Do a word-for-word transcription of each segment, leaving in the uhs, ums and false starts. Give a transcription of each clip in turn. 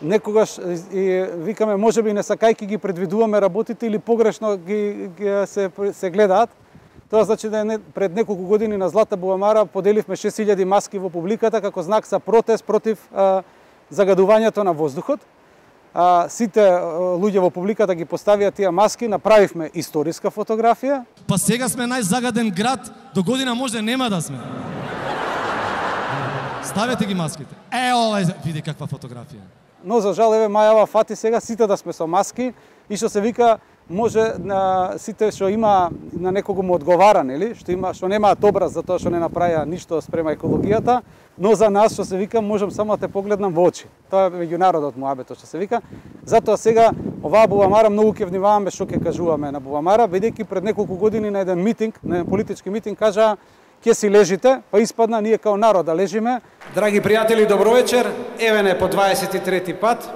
некогаш и викаме можеби не сакајки ги предвидуваме работите или погрешно ги, ги се се гледаат. Тоа значи да не, пред неколку години на Злата Бубамара поделивме шест илјади маски во публиката како знак за протест против а, загадувањето на воздухот. А, сите а, луѓе во публиката ги поставија тие маски, направивме историска фотографија. Па сега сме најзагаден град, до година може нема да сме. Ставете ги маските. Е, ова види каква фотографија. Но за жал еве мајава фати сега сите да сме со маски и што се вика може на сите што има на некого му одговара, нели, што има што немаат образ за тоа што не направија ништо спрема екологијата, но за нас што се вика можам само да те погледнам во очи. Тоа е меѓународот муабето што се вика. Затоа сега оваа Бубамара многу ќе внимаваме што ќе кажуваме на Бубамара, бидејќи пред неколку години на еден митинг, на еден политички митинг кажаа ќе си лежите, па испадна ние као народ да лежиме. Драги пријатели, добро вечер. Еве не по дваесет и трети пат.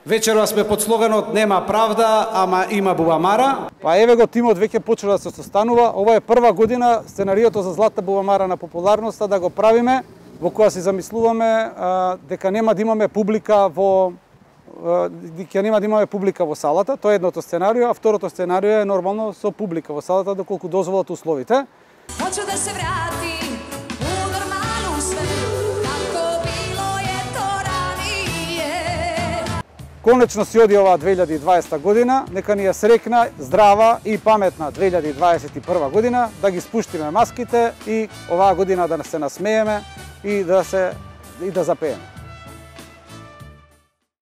Вечерва сме под слоганот нема правда, ама има Бубамара. Па еве го тимот веќе почела да се состанува. Ова е прва година сценариото за Злата Бубамара на популарноста да го правиме, во која си замислуваме а, дека нема да имаме публика во дека нема да имаме публика во салата. Тоа е едното сценарио, а второто сценарио е нормално со публика во салата доколку дозволат условите. Hoću da se vratim u normalnu sve, kako bilo je to ranije. Конечно си оди оваа две илјади и дваесета година, нека ни ја срекна, здрава и паметна две илјади дваесет и прва година, да ги спуштиме маските и оваа година да се насмееме и да се и да запееме.